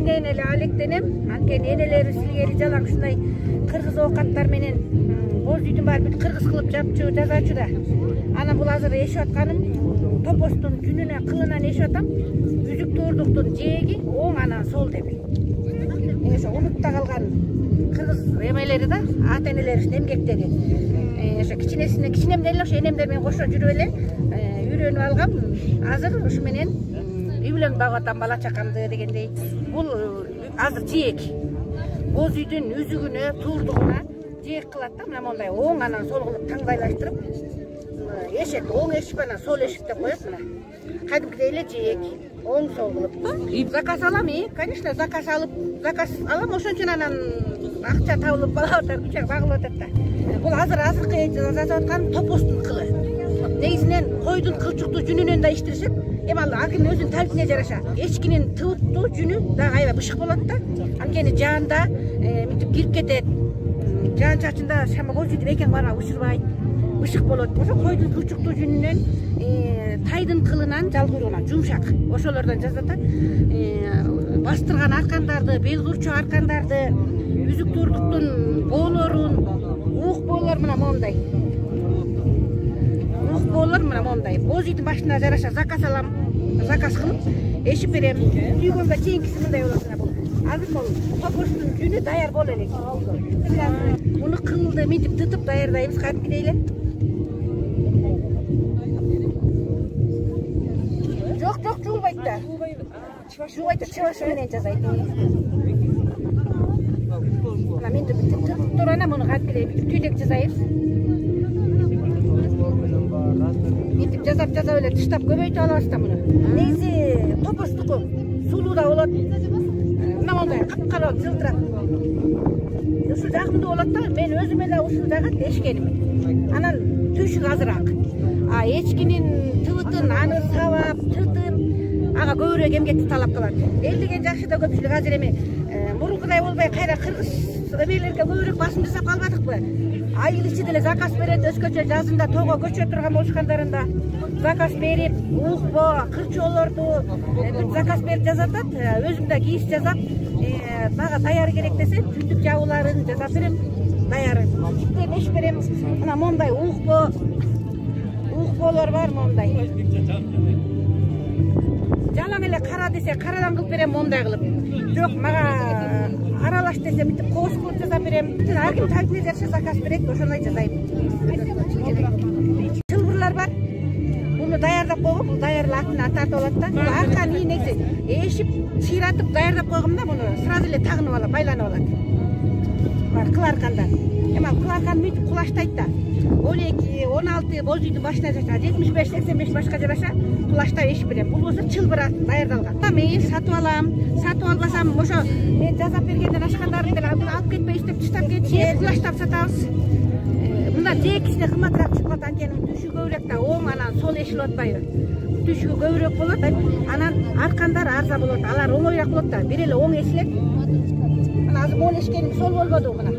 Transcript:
эмнен эле алектенем, анткени энелерибиз илгери жалаң ушундай кыргыз оокаттар менен боз үйдүн баары бүт кыргыз кылып жапчу, жасачу да. Анан бул азыр эшип атканым топостун жүнүнө, кылынан эшип атам. Үзүк туурдуктун жээги оң анан сол деп. Ошо унутта калган кыргыз эмелери да, ата энелерибиздин эмгектери. Ошо кичинемден эле ошо энемдер менен кошо жүрүп эле үйрөнүп алгам. Азыр ушу менен үйлөнүп багып атам бала чакамды дегендей. Бул азыр жээк. Боз үйдүн үзүгүнө, туурдугуна жээк кылат да, мына мондай оң анан сол кылып таңдайлаштырып эшек, оң эшик анан сол эшик деп коет мына. Кадимкидей эле жээк, оң сол кылып. Заказ алам, конечно, заказ алам, ошон үчүн анан акча табылып багылып атат да. Бул азыркы жасап аткан топостун кылы. Негизинен койдун кылчуктуу жүнүнөн да иштешет. Эми ал акынын өзүнүн табитине жараша. Эчкинин тыбыттуу жүнү дагы аябай бышык болот да. Анткени жаанда мынтип кирип кетет. Жаан чачында шама боз үйдүн экен барма учурбайт. Бышык болот. Ошо койдун кылчуктуу жүнүнөн, тайдын кылынан, жал куйругунан жумшак. Ошолордон жасата. Бастырган аркандарды, бел курчу аркандарды, үзүк туурдуктун боолорун, ук боолор мына мондай. Ук боолор мына мондай. Боз үйдүн башына жараша заказ алам. Заказ кылып, эшип берем. Түйгөнгө чейинкиси мындай болот мына бул. Азыр бул топостун жүнү даяр боло элек. Муну кылды мынтип тытып даярдайбыз кадимкидей эле. Жок, жуулбайт да. Жуулбайт, чыбаш менен жасайт. Мына мынтип тытып туруп анан муну кадимкидей түйдек жасайбыз. Мынтип жасап эле тыштап көбөйтүп алабыз да муну. Негизи топостуку сулуу да болот. Мына мондай капкара жылтырап. Ушул жагымдуу болот да. Мен өзүм эле ушул жагат эшкеним. Анан түйшүк азыраак. Эчкинин тыбытын аны сабап, тытып, ага көбүрөөк эмгекти талап кылат. Эл деген жакшы да көпчүлүк азыр эми мурункудай болбой кайра кыргыз эмелерге көбүрөөк басым жасап калбадыкпы? Айыл ичи деле заказ берет, өзгөчө жазында тоого көчө турган болушкандарында заказ берип, уукпо, кырчоолорду заказ берип жасатат. Өзүм да кийиз жасап, дагы даяр керек десе, жүндүк жабууларын жасап берем, даяры. Иптен эш берем. Мына мондай уукполор бар мондай. Жалаң эле кара десе, карадан кылып берем мондай кылып. Жок, мага аралаш десе, мынтип кооз кылып жасап берем. Ар ким табитине жараша заказ берет, ошондой жасайм. Чылбырлар бар. Буну даярдап койгом, бул даярла тартып алат да. Бул арканы негизи эшип, чыйратып даярдап койгом да, буну сразу эле тагынып алат, байланып алат. Бар кыл аркандар. Эми ал кыл аркан мынтип кулаштайт да. 12-16 боз үйдүн башына жараша, 75-85 башка жараша кулаштап эшип берем. Бул болсо чылбыр даярдалган. Мен сатып алам, сатып албасам ошо мен жасап бергенден ашкандарын деле алып кетпей иштеп таштап кетип, кулаштап сатабыз. Мында жээкисине кымбатыраак чыгып калат, анткени түшү көбүрөөк да, оң анан сол эшилип атпайбы? Түшү көбүрөөк болот, анан аркандар арзан болот, алар оңоюраак болот да, бир эле оң эшилет. Мына азыр могул эшкеним сол болбоду мына.